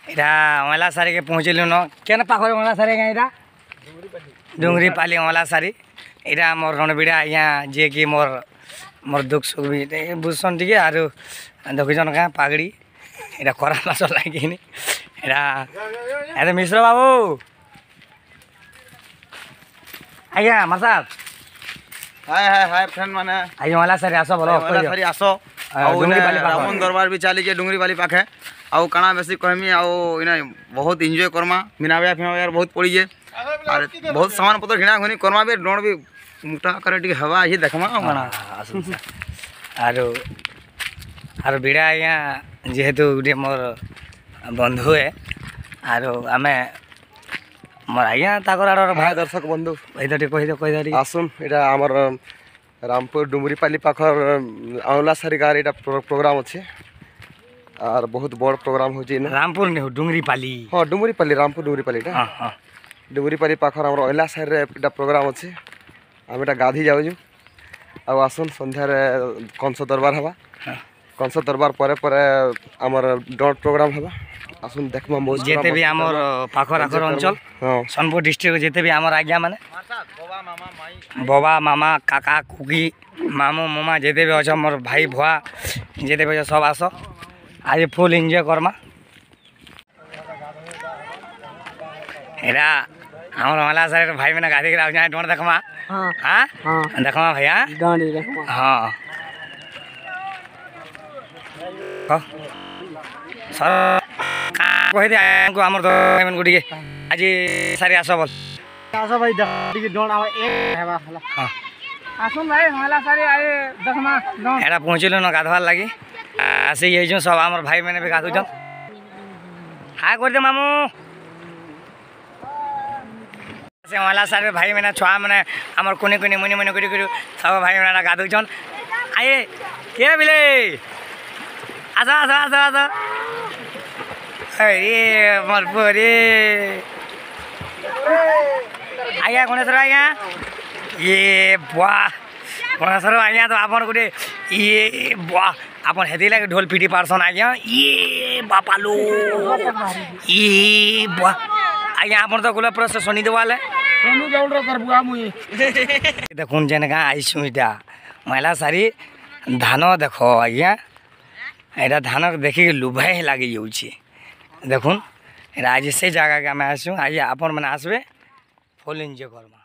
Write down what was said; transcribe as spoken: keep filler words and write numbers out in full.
ଏଇଟା ଅଁଲା ସାରିକେ ପହଞ୍ଚିଲୁନ। କେନ ପାଖରେ ଅଁଲା ସାରି ଆଜ୍ଞା? ଏଇଟା ଡୁଙ୍ଗରିପାଲି ଅଁଲା ସାରି। ଏଇଟା ଆମର ରଣବିଡ଼ା ଆଜ୍ଞା, ଯିଏକି ମୋର୍ ମୋର୍ ଦୁଃଖ ସୁଖ ବି ବୁଝସନ୍ ଟିକେ। ଆରୁ ଦେଖୁଛନ୍ କାଁ ପାଗଡ଼ି, ଏଇଟା ଖରା ମାସ ଲାଗିନି। ଏଇଟା ଆରେ ମିଶ୍ର ବାବୁ ଆଜ୍ଞା, ମାସାବ। ହାଏ ହାଏ ହାଏ ଫ୍ରେଣ୍ଡ ମାନେ। ଆଜ୍ଞା, ଅଁଲା ସାରି ଆସ ଭଲ। ଅଁଲା ସାରି ଆସ। ଆଉ ରାମନ ଦରବାର ବି ଚାଲିଛେ ଡୁଙ୍ଗରିପାଲି ପାଖେ। ଆଉ କାଣା ବେଶୀ କହେମି, ଆଉ ଇନେ ବହୁତ ଏନ୍ଜୟ କର୍ମା। ମୀନା ବଜାର ଫିନା ବଜାର ବହୁତ ପଡ଼ିଛେ, ଆର୍ ବହୁତ ସାମାନ ପତ୍ର ଘିଣା ଘୁନି କର୍ମା ବି। ଡଣ ବି ମୋଟା ଆକାରରେ ଟିକେ ହେବା ଆଜି, ଦେଖମା। ଆଉ କାଣା? ଆରୁ ଆରୁ ବିଡ଼ା ଆଜ୍ଞା ଯେହେତୁ ଗୋଟେ ମୋର୍ ବନ୍ଧୁ ହେ, ଆରୁ ଆମେ ମୋର ଆଜ୍ଞା ତାଙ୍କର ଆଡ଼ର। ଭାଇ, ଦର୍ଶକ ବନ୍ଧୁ। ଏଇଟା ଟିକେ କହିଦିଅ, କହିଦିଅ ଟିକେ। ଆସୁନ୍, ଏଇଟା ଆମର ରାମପୁର ଡୁମୁରିପାଲି ପାଖର ଆଉଲାସାରି ଗାଁରେ ଏଇଟା ପ୍ରୋଗ୍ରାମ ଅଛି, ଆର୍ ବହୁତ ବଡ଼ ପ୍ରୋଗ୍ରାମ ହେଉଛି ଇନେ। ରାମପୁର ନି, ଡୁଙ୍ଗରିପାଲି। ହଁ, ଡୁମୁରିପାଲି, ରାମପୁର ଡୁମୁରିପାଲିଟା। ହଁ ହଁ ଡୁମୁରିପାଲି ପାଖର ଆମର ଅଇଲାସାରିରେ ଏଇଟା ପ୍ରୋଗ୍ରାମ ଅଛି। ଆମେ ଏଇଟା ଗାଧି ଯାଉଛୁ। ଆଉ ଆସୁନ୍, ସନ୍ଧ୍ୟାରେ କଂସ ଦରବାର ହେବା। କଂସ ଦରବାର ପରେ ପରେ ଆମର ଡଟ୍ ପ୍ରୋଗ୍ରାମ ହେବା। ଆସୁନ୍ ଦେଖମା ମୌଜ। ଯେତେ ବି ଆମର ପାଖର ଆଖର ଅଞ୍ଚଳ, ହଁ ସୋନପୁର ଡିଷ୍ଟ୍ରିକ୍ଟ, ଯେତେ ବି ଆମର ଆଜ୍ଞା ମାନେ, ବବା, ମାମା, କାକା, କୁକି, ମାମୁଁ, ମାମା ଯେତେ ବି ଅଛ, ମୋର ଭାଇ ଭୁଆ ଯେତେ ବି ଅଛ, ସବ ଆସ, ଆଜି ଫୁଲ୍ ଏନ୍ଜୟ କର୍ମା। ଏଇଟା ଆମର ମେଲା ସାଇଡ୍ ଭାଇ ମାନେ ଗାଧେଇକି ଆଉଛନ୍। ଡଣ ଦେଖମା, ହଁ ଦେଖମା ଭାଇଆ। ହଁ, କହିଦେ ଆମର ମାନଙ୍କୁ ଟିକେ, ଆଜି ସାରି ଆସ ବଲ। ଆସ ଭାଇ, ଟିକେ ଡଣ ହେବା। ହଁ, ଆସୁନ୍ ଭାଇ, ମେଲା ସାରି I ଦେଖମା। ଏଟା ପହଞ୍ଚିଲୁ ନ ଗାଧବାର୍ ଲାଗି, ଆସିକି ହେଇଛୁ ସବ। ଆମର ଭାଇ ମାନେ ବି ଗାଧୁଛନ୍। ହାଏ କରିଦେ ମାମୁଁ। ସେ ମେଲା ସାରି ଭାଇ ମାନେ, ଛୁଆ ମାନେ, ଆମର କୁନି କୁନି ମୁନି ମୁନି କରି କରି ସବୁ ଭାଇ ମାନେ ଗାଧୁଛନ୍। ଆଏ କିଏ ବିଲେ, ଆସ ଆସ ଆସ ଆସ। ଆରେ ମୋର ପୁଅ ଆଜ୍ଞା, ଗଣେଶ୍ୱର ଆଜ୍ଞା, ଇଏ ବୁଆ ଗଣେଶ୍ୱର ଆଜ୍ଞା। ତ ଆପଣ ଗୋଟେ ଇଏ ବୁଆ, ଆପଣ ହେଥିଲାଗି ଢୋଲ ପିଟି ପାରସନ୍ ଆଜ୍ଞା। ଇଏ ବାପାଲୋ, ଇଏ ବୁଆ ଆଜ୍ଞା, ଆପଣ ତ ଗୁଲା ପୁରା ଶନି ଦେୱାଲେ। ଦେଖୁନ୍, ଯେନ୍ ଗାଁ ଆଇସୁଁ, ଇଟା ମହିଳା ସାରି ଧାନ ଦେଖ ଆଜ୍ଞା। ଏଇଟା ଧାନ ଦେଖିକି ଲୁଭାଇ ଲାଗି ଯାଉଛି। ଦେଖୁନ୍, ଏଇଟା ଆଜି ସେ ଜାଗାକେ ଆମେ ଆସିଛୁ। ଆଜି ଆପଣ ମାନେ ଆସିବେ, ଫୁଲ୍ ଏନ୍ଜୟ କର୍ମା।